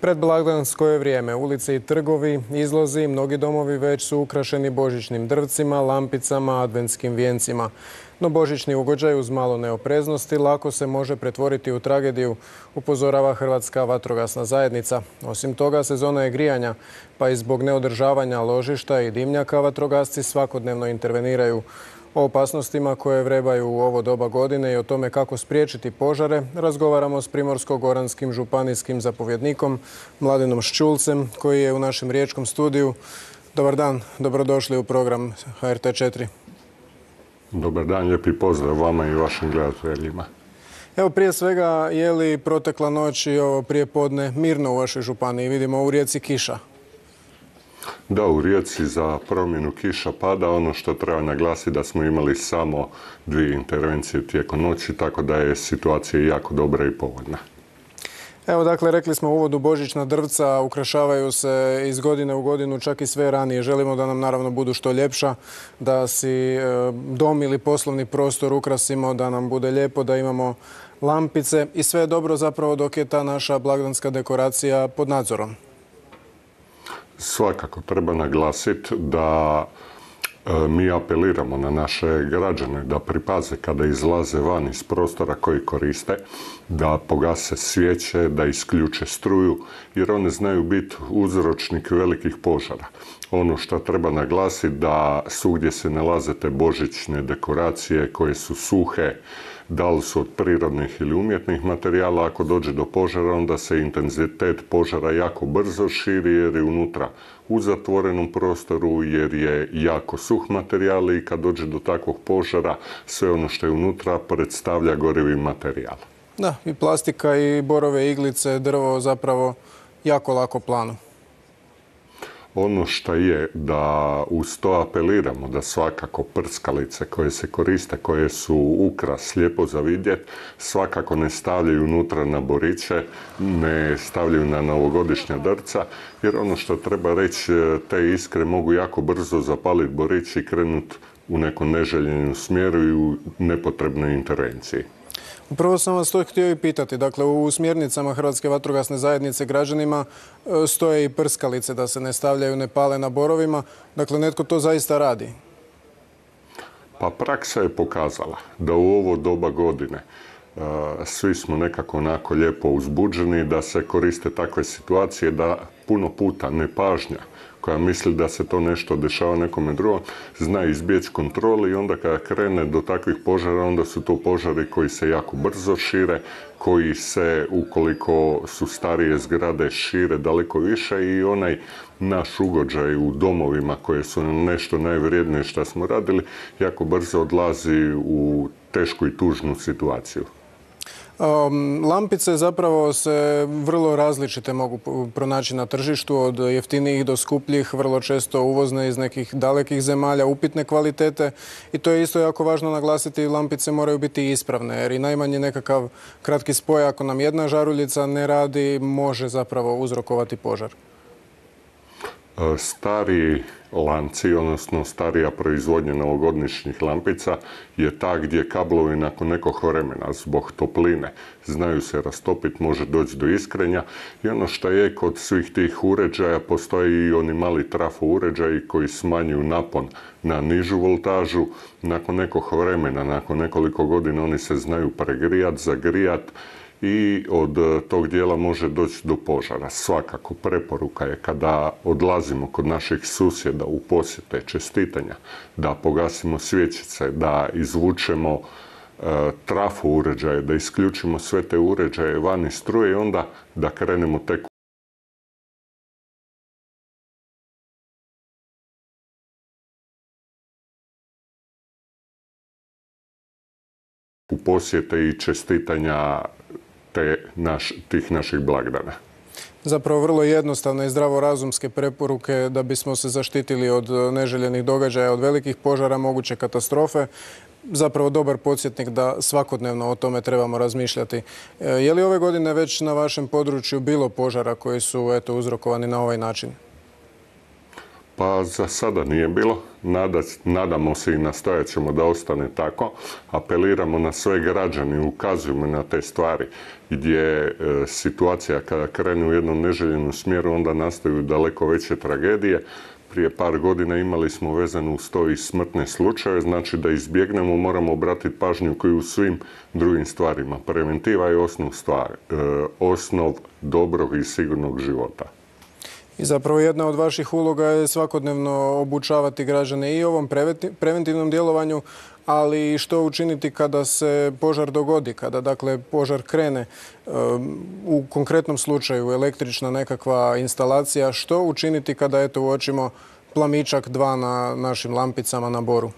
Predblagdansko je vrijeme. Ulice i trgovi, izlozi, mnogi domovi već su ukrašeni božićnim drvcima, lampicama, adventskim vijencima. No božićni ugođaj uz malo neopreznosti lako se može pretvoriti u tragediju, upozorava Hrvatska vatrogasna zajednica. Osim toga, sezona je grijanja, pa i zbog neodržavanja ložišta i dimnjaka vatrogasci svakodnevno interveniraju. O opasnostima koje vrebaju u ovo doba godine i o tome kako spriječiti požare razgovaramo s Primorsko-goranskim županijskim zapovjednikom Mladenom Šćulcem, koji je u našem riječkom studiju. Dobar dan, dobrodošli u program HRT4. Dobar dan, lijepi pozdrav vama i vašim gledateljima. Evo, prije svega, je li protekla noć i ovo prijepodne mirno u vašoj županiji? Vidimo u Rijeci kiša. Da, u Rijeci za promjenu kiša pada. Ono što treba naglasiti da smo imali samo 2 intervencije tijekom noći, tako da je situacija jako dobra i povoljna. Evo, dakle, rekli smo u uvodu, božićna drvca ukrašavaju se iz godine u godinu, čak i sve ranije. Želimo da nam naravno budu što ljepša, da si dom ili poslovni prostor ukrasimo, da nam bude lijepo, da imamo lampice i sve je dobro zapravo dok je ta naša blagdanska dekoracija pod nadzorom. Svakako treba naglasiti da mi apeliramo na naše građane da pripaze kada izlaze van iz prostora koji koriste, da pogase svijeće, da isključe struju, jer one znaju biti uzročnik velikih požara. Ono što treba naglasiti da svugdje se nalaze te božićne dekoracije koje su suhe, da li su od prirodnih ili umjetnih materijala. Ako dođe do požara, onda se intenzitet požara jako brzo širi jer je unutra u zatvorenom prostoru, jer je jako suh materijal i kad dođe do takvog požara, sve ono što je unutra predstavlja gorivi materijal. Da, i plastika i borove iglice, drvo zapravo jako lako planu. Ono što je da uz to apeliramo da svakako prskalice koje se koriste, koje su ukras, lijepo za vidjet, svakako ne stavljaju unutra na boriće, ne stavljaju na novogodišnja drvca, jer ono što treba reći, te iskre mogu jako brzo zapaliti borić i krenuti u nekom neželjenom smjeru i u nepotrebnoj intervenciji. Upravo sam vas to htio i pitati. Dakle, u smjernicama Hrvatske vatrogasne zajednice građanima stoje i prskalice da se ne stavljaju, ne pale na borovima. Dakle, netko to zaista radi. Pa praksa je pokazala da u ovo doba godine svi smo nekako onako lijepo uzbuđeni, da se koriste takve situacije, da puno puta nepažnja koja misli da se to nešto dešava nekome drugom, zna izbjeći kontroli i onda kada krene do takvih požara, onda su to požari koji se jako brzo šire, koji se, ukoliko su starije zgrade, šire daleko više i onaj naš ugođaj u domovima koje su nešto najvrijednije što smo radili, jako brzo odlazi u tešku i tužnu situaciju. Lampice zapravo se vrlo različite mogu pronaći na tržištu, od jeftinijih do skupljih, vrlo često uvozne iz nekih dalekih zemalja, upitne kvalitete. I to je isto jako važno naglasiti, lampice moraju biti ispravne, jer i najmanje nekakav kratki spoj, ako nam jedna žaruljica ne radi, može zapravo uzrokovati požar. Stariji lanci, odnosno starija proizvodnja novogodišnjih lampica je ta gdje kablovi nakon nekog vremena zbog topline znaju se rastopiti, može doći do iskrenja i ono što je kod svih tih uređaja postoji i oni mali trafo uređaji koji smanjuju napon na nižu voltažu. Nakon nekog vremena, nakon nekoliko godina oni se znaju pregrijati, zagrijati i od tog dijela može doći do požara. Svakako preporuka je kada odlazimo kod naših susjeda u posjete, čestitanja, da pogasimo svjećice, da izvučemo trafu uređaje, da isključimo sve te uređaje van iz struje i onda da krenemo tek u posjete i čestitanja tih naših blagdana. Zapravo vrlo jednostavne i zdravorazumske preporuke da bismo se zaštitili od neželjenih događaja, od velikih požara, moguće katastrofe. Zapravo dobar podsjetnik da svakodnevno o tome trebamo razmišljati. Je li ove godine već na vašem području bilo požara koji su uzrokovani na ovaj način? Pa za sada nije bilo. Nadamo se i nastojat ćemo da ostane tako. Apeliramo na sve građane i ukazujemo na te stvari gdje situacija kada krene u jednom neželjenom smjeru onda nastaju daleko veće tragedije. Prije par godina imali smo vezano uz to i smrtne slučaje, znači da izbjegnemo moramo obratiti pažnju koju u svim drugim stvarima. Preventiva je osnov dobrog i sigurnog života. I zapravo jedna od vaših uloga je svakodnevno obučavati građane i ovom preventivnom djelovanju, ali i što učiniti kada se požar dogodi, kada dakle požar krene. U konkretnom slučaju električna nekakva instalacija, što učiniti kada eto uočimo plamičak 2 na našim lampicama na Boru?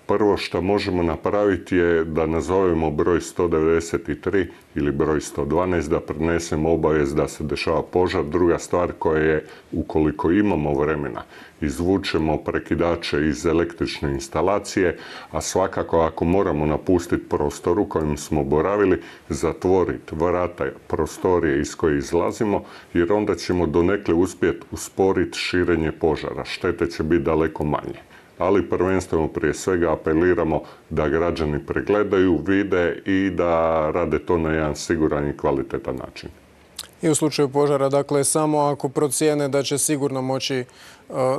Prvo što možemo napraviti je da nazovemo broj 193 ili broj 112, da prenesemo obavijest da se dešava požar. Druga stvar koja je, ukoliko imamo vremena, izvučemo prekidače iz električne instalacije, a svakako ako moramo napustiti prostor u kojem smo boravili, zatvoriti vrata prostorije iz koje izlazimo, jer onda ćemo donekle uspjeti usporiti širenje požara. Štete će biti daleko manje. Ali prvenstveno prije svega apeliramo da građani pregledaju, vide i da rade to na jedan siguran i kvalitetan način. I u slučaju požara, dakle, samo ako procijene da će sigurno moći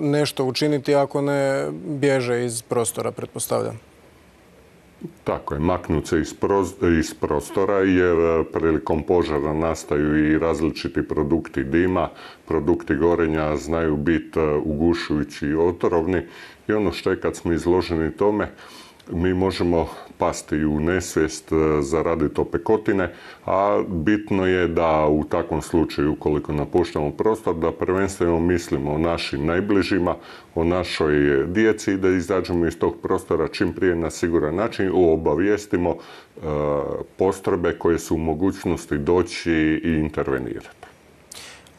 nešto učiniti, ako ne bježe iz prostora, pretpostavljam. Tako je, maknuti se iz prostora jer prilikom požara nastaju i različiti produkti dima, produkti gorenja znaju biti ugušujući i otrovni i ono što je kad smo izloženi tome, mi možemo pasti u nesvijest, zaraditi opekotine, a bitno je da u takvom slučaju, ukoliko napuštamo prostor, da prvenstveno mislimo o našim najbližima, o našoj djeci i da izađemo iz tog prostora čim prije na siguran način, obavijestimo postrojbe koje su u mogućnosti doći i intervenirati.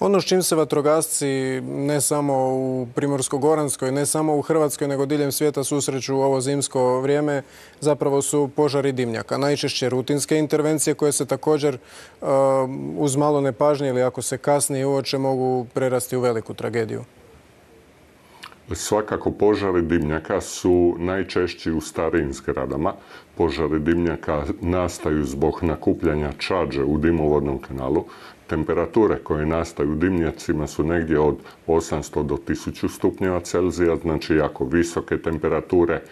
Ono s čim se vatrogasci ne samo u Primorsko-goranskoj, ne samo u Hrvatskoj, nego diljem svijeta susreću u ovo zimsko vrijeme, zapravo su požari dimnjaka. Najčešće rutinske intervencije koje se također uz malo nepažnje ili ako se kasnije uoče mogu prerasti u veliku tragediju. Svakako požari dimnjaka su najčešći u starijim zgradama. Požari dimnjaka nastaju zbog nakupljanja čađe u dimovodnom kanalu. Temperature koje nastaju u dimnjacima su negdje od 800 do 1000 stupnjeva Celzija, znači jako visoke temperature.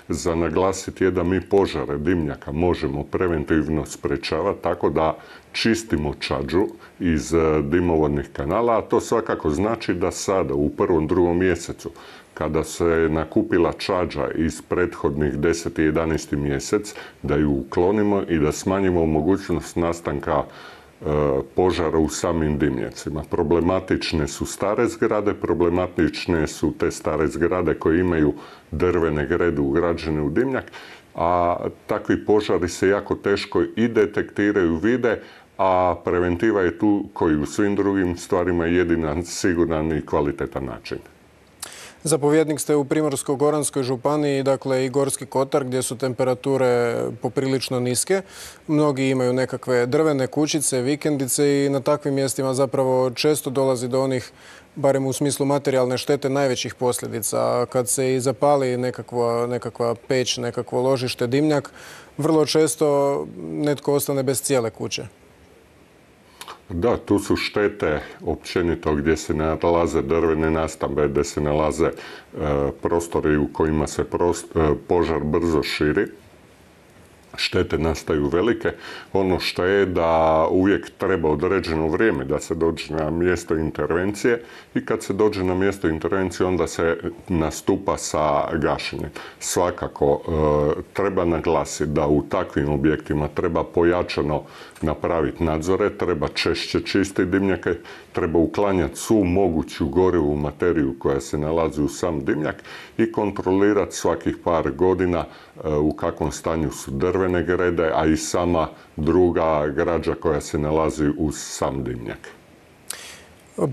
Za naglasiti je da mi požare dimnjaka možemo preventivno sprečavati tako da čistimo čađu iz dimovodnih kanala, a to svakako znači da sada u 1. 2. mjesecu kada se nakupila čađa iz prethodnih 10. i 11. mjesec, da ju uklonimo i da smanjimo mogućnost nastanka požara u samim dimnjacima. Problematične su stare zgrade, problematične su te stare zgrade koje imaju drvene grede ugrađene u dimnjak, a takvi požari se jako teško i detektiraju, vide, a preventiva je tu koji u svim drugim stvarima jedina siguran i kvalitetan način. Zapovjednik ste u Primorsko-goranskoj županiji, dakle i Gorski kotar, gdje su temperature poprilično niske. Mnogi imaju nekakve drvene kućice, vikendice i na takvim mjestima zapravo često dolazi do onih, barem u smislu materijalne štete, najvećih posljedica. Kad se i zapali nekakva peć, nekakvo ložište, dimnjak, vrlo često netko ostane bez cijele kuće. Da, tu su štete općenito gdje se nalaze drvene nastambe, gdje se nalaze prostori u kojima se požar brzo širi. Štete nastaju velike. Ono što je da uvijek treba određeno vrijeme da se dođe na mjesto intervencije i kad se dođe na mjesto intervencije onda se nastupa sa gašenjem. Svakako treba naglasiti da u takvim objektima treba pojačano napraviti nadzore, treba češće čistiti dimnjake, treba uklanjati svu moguću gorivu materiju koja se nalazi u sam dimnjak i kontrolirati svakih par godina u kakvom stanju su drvene grede, a i sama druga građa koja se nalazi uz sam dimnjak.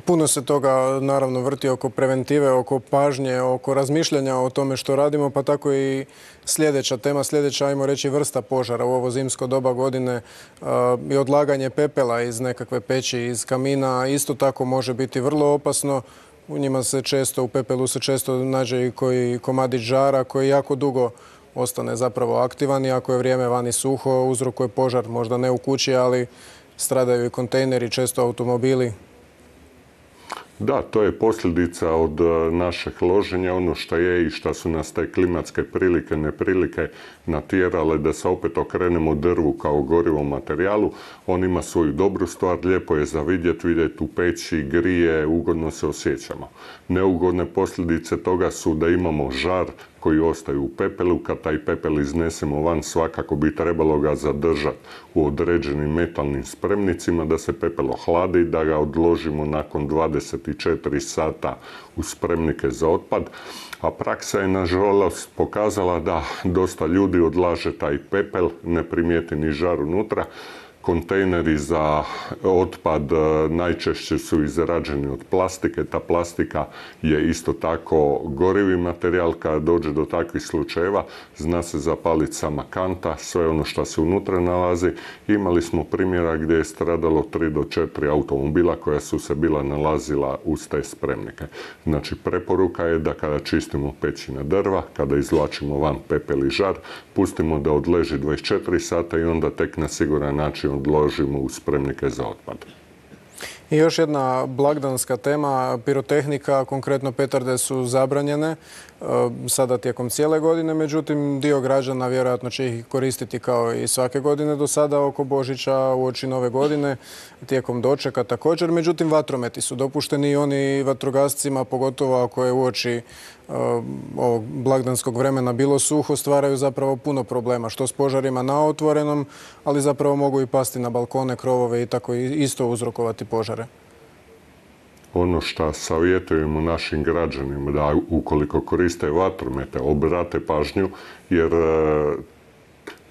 Puno se toga naravno vrti oko preventive, oko pažnje, oko razmišljanja o tome što radimo, pa tako i sljedeća tema, sljedeća, ajmo reći, vrsta požara u ovo zimsko doba godine i odlaganje pepela iz nekakve peći, iz kamina, isto tako može biti vrlo opasno. U njima se često, u pepelu se često nađe i koji komadić žara koji jako dugo ostane zapravo aktivan i ako je vrijeme vani suho, uzrokuje požar, možda ne u kući, ali stradaju i kontejneri, često automobili. Da, to je posljedica od našeg loženja, ono što je i što su nas te klimatske prilike, neprilike natjerale da se opet okrenemo drvu kao gorivom materijalu. On ima svoju dobru stvar, lijepo je za vidjeti u peći, grije, ugodno se osjećamo. Neugodne posljedice toga su da imamo žar koji ostaju u pepelu. Kad taj pepel iznesemo van, svakako bi trebalo ga zadržati u određenim metalnim spremnicima, da se pepel ohladi, da ga odložimo nakon 24 sata u spremnike za otpad. A praksa je nažalost pokazala da dosta ljudi odlaže taj pepel, ne primijeti ni žar unutra. Kontejneri za otpad najčešće su izrađeni od plastike. Ta plastika je isto tako gorivi materijal. Kada dođe do takvih slučajeva, zna se zapaliti sama kanta, sve ono što se unutra nalazi. Imali smo primjera gdje je stradalo 3 do 4 automobila koja su se bila nalazila uz te spremnike. Znači, preporuka je da kada čistimo pećina drva, kada izvlačimo van pepel i žar, pustimo da odleži 24 sata i onda tek na siguran način odložimo u spremnike za otpad. I još jedna blagdanska tema, pirotehnika, konkretno petarde su zabranjene sada tijekom cijele godine, međutim dio građana vjerojatno će ih koristiti kao i svake godine do sada oko Božića, uoči Nove godine, tijekom dočeka također. Međutim, vatrometi su dopušteni i oni vatrogascima, pogotovo ako je uoči ovog blagdanskog vremena bilo suho, stvaraju zapravo puno problema, što s požarima na otvorenom, ali zapravo mogu i pasti na balkone, krovove i tako isto uzrokovati požare. Ono što savjetujemo našim građanima da ukoliko koriste vatromete, obrate pažnju, jer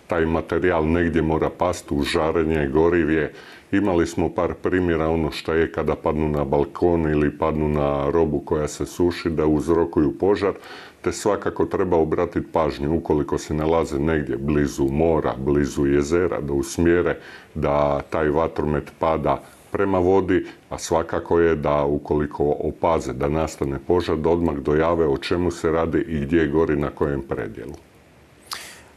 taj materijal negdje mora pasti u žarenje, gorivje. Imali smo par primjera ono što je kada padnu na balkon ili padnu na robu koja se suši, da uzrokuju požar, te svakako treba obratiti pažnju ukoliko se nalaze negdje blizu mora, blizu jezera, da usmjere da taj vatromet pada prema vodi, a svakako je da ukoliko opaze da nastane požar, da odmah dojave o čemu se radi i gdje gori na kojem predjelu.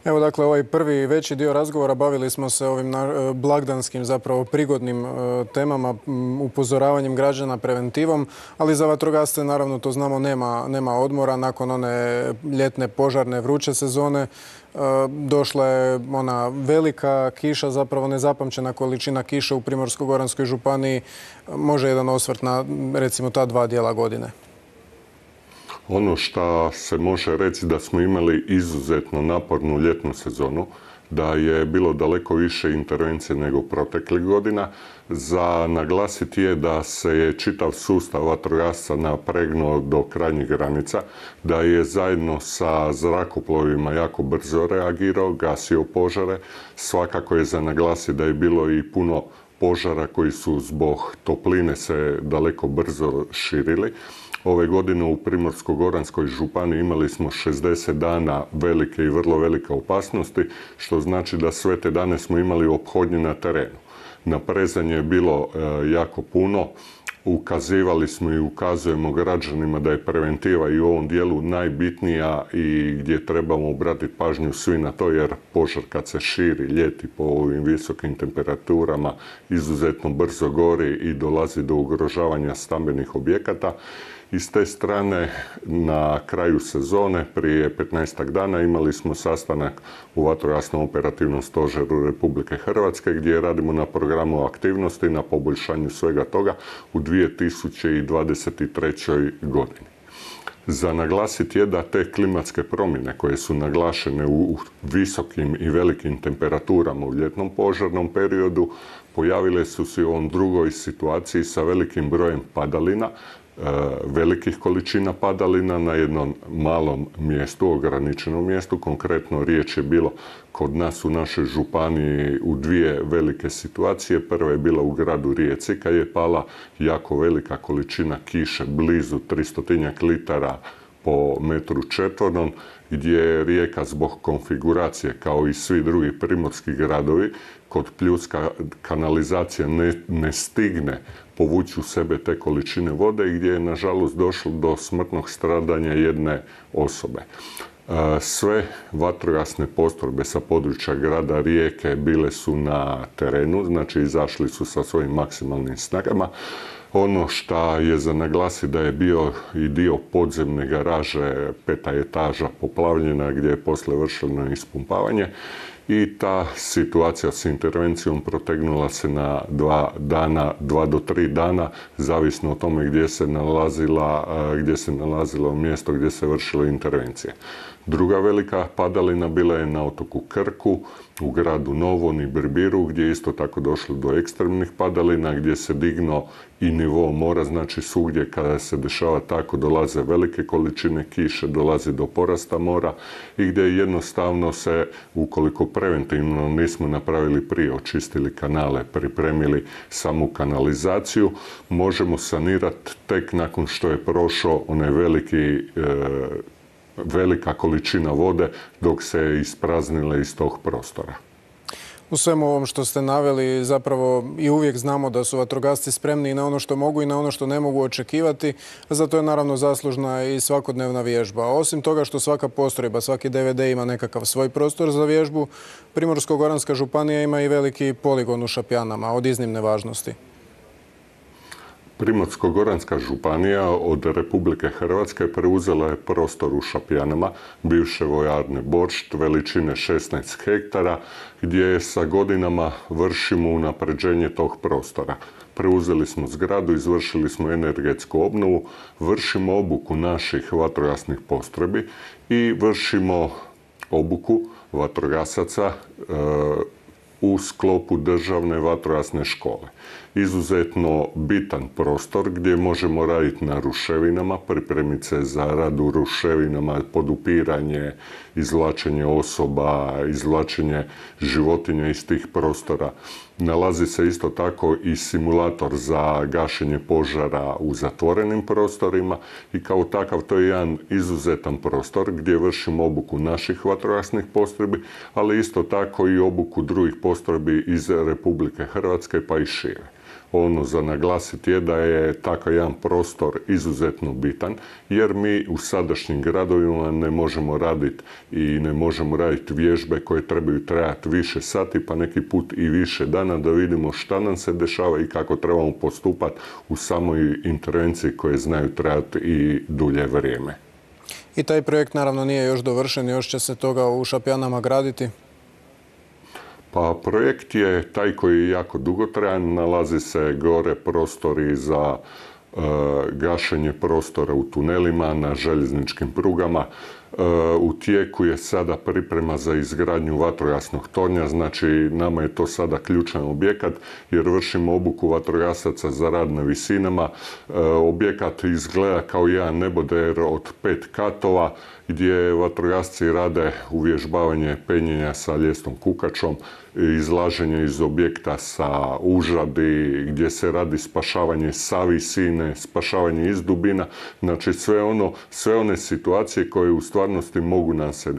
Evo, dakle, ovaj prvi veći dio razgovora bavili smo se ovim blagdanskim, zapravo prigodnim temama, upozoravanjem građana, preventivom, ali za vatrogasce, naravno, to znamo, nema odmora. Nakon one ljetne požarne vruće sezone došla je ona velika kiša, zapravo nezapamćena količina kiše u Primorsko-goranskoj županiji. Može jedan osvrt na, recimo, ta dva dijela godine? Ono što se može reći da smo imali izuzetno napornu ljetnu sezonu, da je bilo daleko više intervencije nego proteklih godina. Za naglasiti je da se je čitav sustav vatrogasca napregnuo do krajnjih granica, da je zajedno sa zrakoplovima jako brzo reagirao, gasio požare. Svakako je za naglasiti da je bilo i puno požara koji su zbog topline se daleko brzo širili. Ove godine u Primorsko-goranskoj županiji imali smo 60 dana velike i vrlo velike opasnosti, što znači da sve te dane smo imali ophodnje na terenu. Naprezanje je bilo jako puno. Ukazivali smo i ukazujemo građanima da je preventiva i u ovom dijelu najbitnija i gdje trebamo obratiti pažnju svi na to, jer požar kad se širi ljeti po ovim visokim temperaturama izuzetno brzo gori i dolazi do ugrožavanja stambenih objekata. I s te strane, na kraju sezone, prije 15 dana, imali smo sastanak u Vatrogasnom operativnom stožeru Republike Hrvatske gdje radimo na programu aktivnosti, na poboljšanju svega toga u 2023. godini. Za naglasiti je da te klimatske promjene koje su naglašene u visokim i velikim temperaturama u ljetnom požarnom periodu pojavile su se u ovom drugoj situaciji sa velikim brojem padalina, velikih količina padalina na jednom malom mjestu, ograničenom mjestu. Konkretno riječ je bilo kod nas u našoj županiji u dvije velike situacije. Prva je bila u gradu Rijeci kad je pala jako velika količina kiše, blizu 300 litara po metru četvornom, gdje je Rijeka zbog konfiguracije, kao i svi drugi primorski gradovi, kod pljuska kanalizacija ne stigne povući u sebe te količine vode i gdje je nažalost došlo do smrtnog stradanja jedne osobe. Sve vatrogasne postrojbe sa područja grada Rijeke bile su na terenu, znači izašli su sa svojim maksimalnim snagama. Ono što je za naglasiti da je bio i dio podzemne garaže, 5. etaža poplavljena gdje je poslije vršeno ispumpavanje i ta situacija s intervencijom protegnula se na 2 do 3 dana, zavisno o tome gdje se nalazilo mjesto gdje se vršila intervencija. Druga velika padalina bila je na otoku Krku, u gradu Novom i Birbiru, gdje je isto tako došlo do ekstremnih padalina, gdje se dignuo i nivo mora, znači svugdje kada se dešava tako dolaze velike količine kiše, dolazi do porasta mora i gdje jednostavno se, ukoliko preventivno nismo napravili prije, očistili kanale, pripremili samu kanalizaciju, možemo sanirati tek nakon što je prošao onaj velika količina vode dok se ispraznila iz tog prostora. U svemu ovom što ste naveli, zapravo i uvijek znamo da su vatrogasci spremni i na ono što mogu i na ono što ne mogu očekivati, a za to je naravno zaslužna i svakodnevna vježba. Osim toga što svaka postrojba, svaki DVD ima nekakav svoj prostor za vježbu, Primorsko-goranska županija ima i veliki poligon u Šapjanama od iznimne važnosti. Primorsko-goranska županija od Republike Hrvatske preuzela je prostor u Šapjanama, bivše vojarne Boršt, veličine 16 hektara, gdje sa godinama vršimo unapređenje tog prostora. Preuzeli smo zgradu, izvršili smo energetsku obnovu, vršimo obuku naših vatrogasnih postrojbi i vršimo obuku vatrogasaca u sklopu državne vatrogasne škole. Izuzetno bitan prostor gdje možemo raditi na ruševinama, pripremiti se za rad u ruševinama, podupiranje, izvlačenje osoba, izvlačenje životinja iz tih prostora. Nalazi se isto tako i simulator za gašenje požara u zatvorenim prostorima i kao takav to je jedan izuzetan prostor gdje vršimo obuku naših vatrogasnih postrojbi, ali isto tako i obuku drugih postrojbi iz Republike Hrvatske pa i šire. Ono za naglasiti je da je takav jedan prostor izuzetno bitan, jer mi u sadašnjim gradovima ne možemo raditi vježbe koje trebaju trajati više sati, pa neki put i više dana, da vidimo šta nam se dešava i kako trebamo postupati u samoj intervenciji koje znaju trajati i dulje vrijeme. I taj projekt naravno nije još dovršen, još će se toga u Šapjanama graditi? Pa projekt je taj koji je jako dugotrajan, nalazi se gore prostori za gašenje prostora u tunelima, na željezničkim prugama. U tijeku je sada priprema za izgradnju vatrogasnog tornja, znači nama je to sada ključan objekat jer vršimo obuku vatrogasaca za rad na visinama. Objekat izgleda kao jedan neboder od 5 katova gdje vatrogasci rade uvježbavanje penjenja sa ljestom kukačom, izlaženje iz objekta sa užadi, gdje se radi spašavanje sa visine, spašavanje iz dubina, znači sve one situacije koje u stvarnosti mogu nam se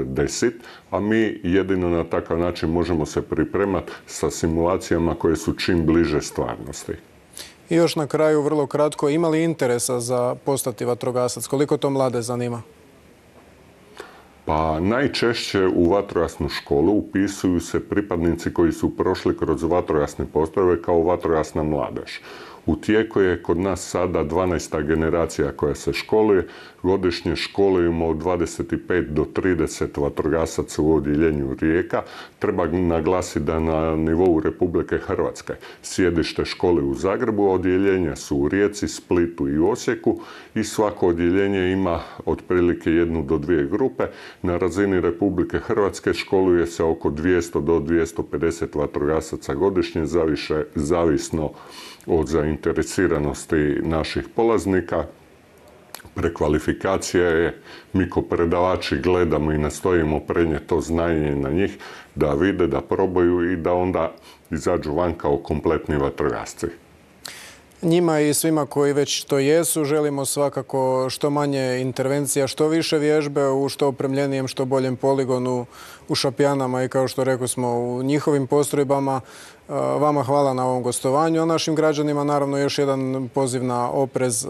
desiti, a mi jedino na takav način možemo se pripremati sa simulacijama koje su čim bliže stvarnosti. I još na kraju, vrlo kratko, ima li interesa za postati vatrogasac? Koliko to mlade zanima? Pa najčešće u vatrogasnu školu upisuju se pripadnici koji su prošli kroz vatrogasne postrojbe kao vatrogasna mladež. U tijeku je kod nas sada 12. generacija koja se školuje. Godišnje školujemo od 25 do 30 vatrogasaca u odjeljenju Rijeka. Treba naglasiti da na nivou Republike Hrvatske sjedište škole u Zagrebu, odjeljenja su u Rijeci, Splitu i Osijeku i svako odjeljenje ima otprilike 1 do 2 grupe. Na razini Republike Hrvatske školuje se oko 200 do 250 vatrogasaca godišnje, zavisno od zainteresiranosti naših polaznika. Prekvalifikacija je, mi ko predavači gledamo i nastojimo prenijeti to znanje na njih, da vide, da probaju i da onda izađu van kao kompletni vatrogasci. Njima i svima koji već to jesu želimo svakako što manje intervencija, što više vježbe u što opremljenijem, što boljem poligonu u Šapjanama i kao što rekli smo u njihovim postrojbama. Vama hvala na ovom gostovanju, a našim građanima naravno još jedan poziv na oprez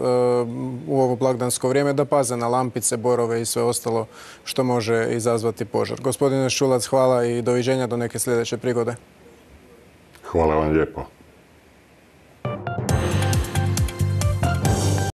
u ovo blagdansko vrijeme, da paze na lampice, borove i sve ostalo što može izazvati požar. Gospodine Šulac, hvala i doviđenja do neke sljedeće prigode. Hvala vam lijepo.